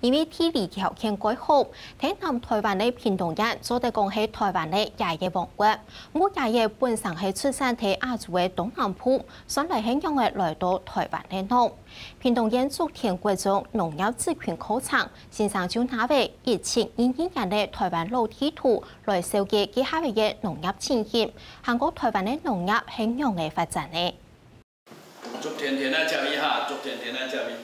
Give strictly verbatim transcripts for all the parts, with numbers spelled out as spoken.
因為地理條件蓋好，在南臺灣个屏東縣做得講係臺灣个椰仔王國。毋過椰仔本身係出產在亞洲个東南部，算來係仰仔來到臺灣个呢？屏東縣竹田國中農業職訓課程，先生就拿著一七二二年个臺灣老地圖來紹介該下仔个農業情形，還過臺灣个農業係仰仔發展呢？ 竹田田仔接伊哈，竹田田仔接伊。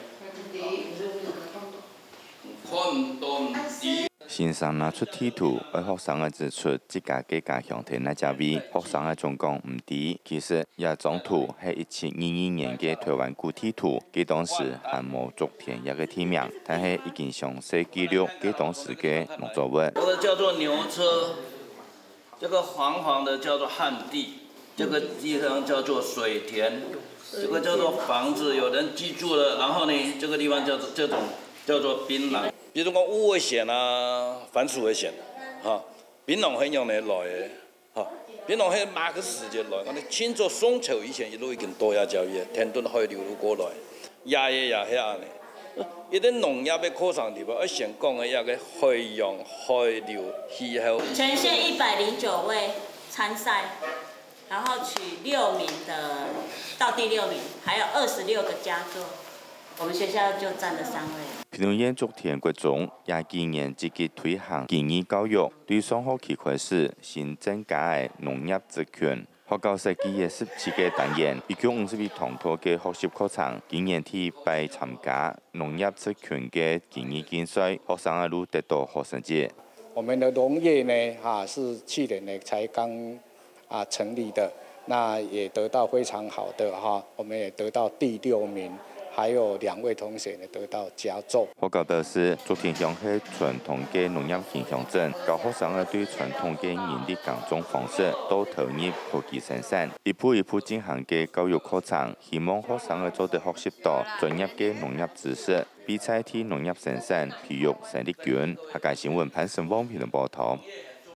看毋到毋知。先生拿出地圖，愛學生仔指出自家个家鄉田仔接位。學生仔總講毋知，其實這張圖係一七二二年个臺灣古地圖，該當時還無竹田這个地名，但係已經詳細記錄該當時个農作物。這個叫做牛車。 這個黃黃的叫做旱地，這個地方叫做水田，這個叫做房子，有人居住了，然後呢，這個地方叫做，這種叫做檳榔。比如講烏尾蘚啊，番薯仔蘚，哈，檳榔係仰仔來个，哈，檳榔係麼个時節來？𠊎等清朝宋朝以前一路已經到這條个，天津海流路過來。 也也也係恁呢。一定農業个課程裡背，愛先講个一個海洋、海流、氣候。全縣一百零九位參賽，然後取六名的，到第六名，還有二十六個佳作，我們學校就佔了三位。屏東縣竹田國中也今年積極推行技藝教育，對上學期開始，新增加个農業職訓。 學校設計了十七個單元，一共五十一堂課个學習課程。今年第一擺參加農業職訓个技藝競賽，學生仔都得到好成績。我們的農業呢，哈，是去年呢才剛，啊，成立的，那也得到非常好的，哈，我們也得到第六名，還有兩位同學呢得到佳作。 學校表示，竹田鄉係傳統个農業型鄉鎮，教學生仔對傳統个人力耕種方式到投入科技生產，一步一步進行个教育課程，希望學生仔做得學習到專業个農業知識，比賽在農業生產培育生力軍。客家新聞潘成旺屏東報導。